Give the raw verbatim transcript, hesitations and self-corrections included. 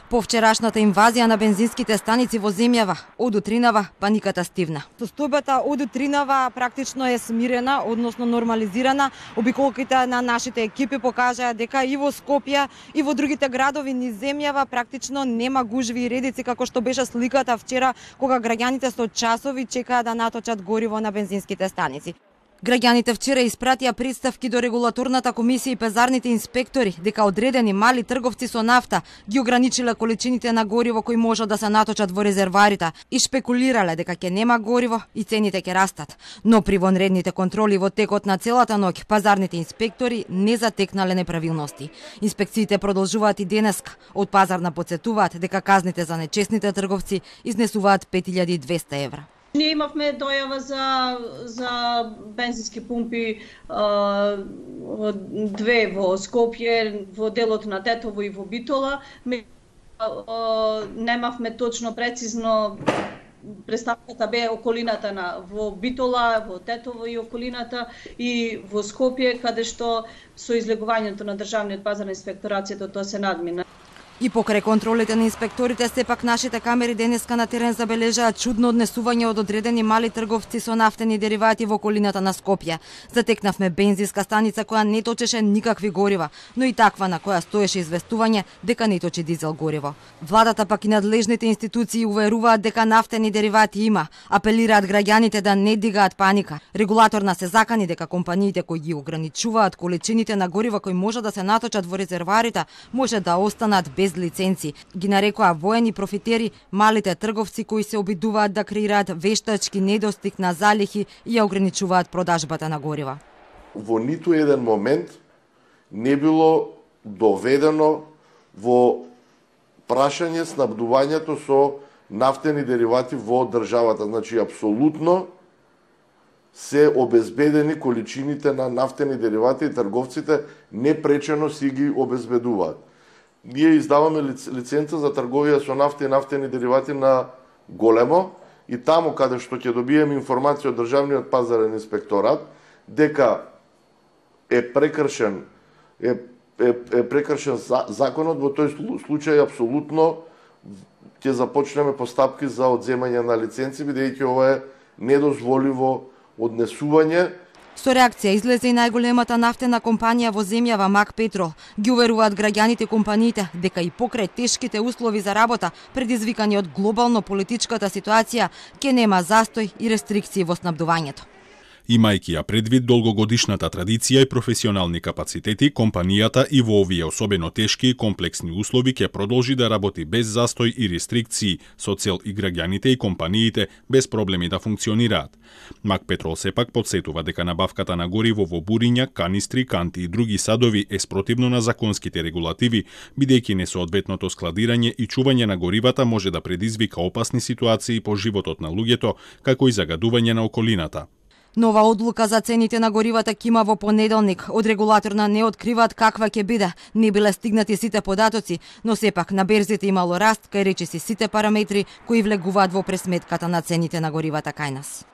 По вчерашната инвазија на бензинските станици во земјава, од утринава паниката стивна. Состојбата од утринава практично е смирена, односно нормализирана. Обиколките на нашите екипи покажаа дека и во Скопје и во другите градови низ земјава практично нема гужви и редици како што беше сликата вчера кога граѓаните со часови чекаа да наточат гориво на бензинските станици. Граѓаните вчера испратија представки до регулаторната комисија и пазарните инспектори дека одредени мали трговци со нафта ги ограничиле количините на гориво кои може да се наточат во резерварите и шпекулирале дека ќе нема гориво и цените ќе растат. Но при вонредните контроли во текот на целата ноќ пазарните инспектори не затекнале неправилности. Инспекциите продолжуваат и денеска. Од пазарна потсетуваат дека казните за нечесните трговци изнесуваат пет илјади и двесте евра. Ние имавме дојава за за бензински пумпи а, две во Скопје, во делот на Тетово и во Битола. Ме, а, немавме точно прецизно представката бе околината на во Битола, во Тетово и околината и во Скопје, каде што со излегувањето на државниот пазарен инспекторацијата тоа се надмина. И покрај контролите на инспекторите, сепак нашите камери денеска на терен забележаат чудно однесување од одредени мали трговци со нафтени деривати во околината на Скопје. Затекнавме бензинска станица која не точеше никакви горива, но и таква на која стоеше известување дека не точи дизел гориво. Владата пак и надлежните институции уверуваат дека нафтени деривати има, апелираат граѓаните да не дигаат паника. Регулаторна се закани дека компаниите кои ги ограничуваат количините на горива кои може да се наточат во резерварите може да останат без лиценци. Ги нарекоа воени профитери малите трговци кои се обидуваат да креираат вештачки недостиг на залихи и ја ограничуваат продажбата на горива. Во ниту еден момент не било доведено во прашање снабдувањето со нафтени деривати во државата. Значи, апсолутно се обезбедени количините на нафтени деривати и трговците непречено си ги обезбедуваат. Ние издаваме лиценца за трговија со нафта и нафтени деривати на големо и таму каде што ќе добиеме информација од државниот пазарен инспекторат дека е прекршен е, е, е прекршен законот, во тој случај апсолутно ќе започнеме постапки за одземање на лиценци, бидејќи ова е недозволиво однесување. Со реакција излезе и најголемата нафтена компанија во земјава Мак Петрол. Ги уверуваат граѓаните и компаниите дека и покрај тешките услови за работа, предизвикани од глобално политичката ситуација, ќе нема застој и рестрикции во снабдувањето. Имајќи ја предвид долгогодишната традиција и професионални капацитети, компанијата и во овие особено тешки и комплексни услови ќе продолжи да работи без застој и рестрикции, со цел и граѓаните и компаниите без проблеми да функционираат. Мак Петрол сепак подсетува дека набавката на гориво во буриња, канистри, канти и други садови е спротивно на законските регулативи, бидејќи несоодветното складирање и чување на горивата може да предизвика опасни ситуации по животот на луѓето, како и загадување на околината. Нова одлука за цените на горивата ќе има во понеделник. Од регулаторна не откриваат каква ќе биде. Не биле стигнати сите податоци, но сепак на берзите имало раст кај речиси сите параметри кои влегуваат во пресметката на цените на горивата кај нас.